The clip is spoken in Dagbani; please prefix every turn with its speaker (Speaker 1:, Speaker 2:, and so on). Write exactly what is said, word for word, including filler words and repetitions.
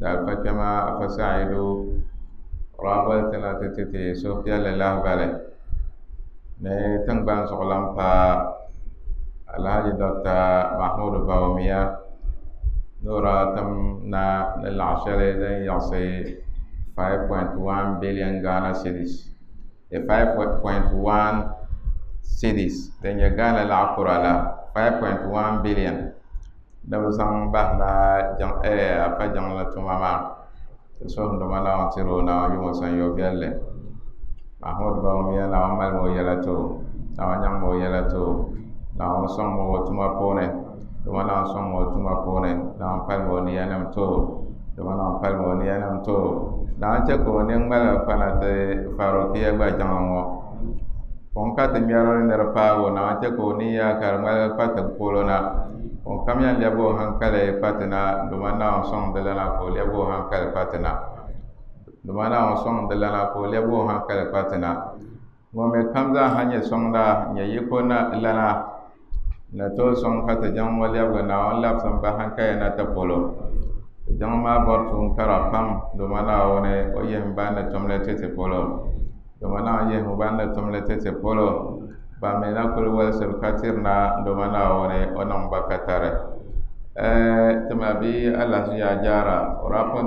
Speaker 1: Di alifa kpɛma Afa Sa'idu o daa boli ti na ti ti ti suhupiɛlli lahibali ni tiŋgbani zuɣulan paa Alhaji Doctor Mahmudu Bawumia ni o daa tim na ni laɣ shɛli din yiɣisi five point one billion Ghana cedis five point one cedis din nyɛ Ghana laɣ kura la five point one billion ni bi zaŋ bahi na Afa jiŋli tuma maa. Ti suhuri Duuma Naawuni tiri o Naawuni yimo sanyo viɛlli. Mahmud Bawumia Naawuni malimi o yɛla ti o, Naawuni nyaŋmi o yɛla ti o, Naawuni sɔŋmi o tuma puuni, Duuma Naawuni sɔŋmi o tuma puuni, Naawuni palimi o niyanim ti o, Duuma Naawuni palimi o niyanim ti o. Naawuni chɛ ka o nini ŋmaligi kpana ti Farukiya gba jiŋli ŋɔ. Ŋun ka ti ŋmɛri ni di paagi o, Naawuni chɛ ka o niya ka di ŋmaligi kpa ti polo na. Ŋun kam yɛn lɛbigi o hankali kpa ti na, Duuma Naawuni sɔŋ di lana ka o lɛbigi o hankali kpa ti na. Duuma Naawuni sɔŋ di lana ka o lɛbigi o hankali kpa ti na. Ŋun mi kam zaa ha nyɛ sɔŋda nyɛ yiko na lana ni tooi sɔŋ ka ti jiŋ ŋɔ lɛbigi Naawuni labisi ba hankali na ti polo. Ti jiŋ maa bɔri tuun kara pam, Duuma Naawuni o yihim ban ni tumli ti ti polo. Duuma Naawuni yihim ban ni tumli ti ti polo. Ban mi na kuli wolisiri ka tiri na, Duuma Naawuni o niŋ ba katari. Ti ma bia Alhaji Yaa Jaara o daa pun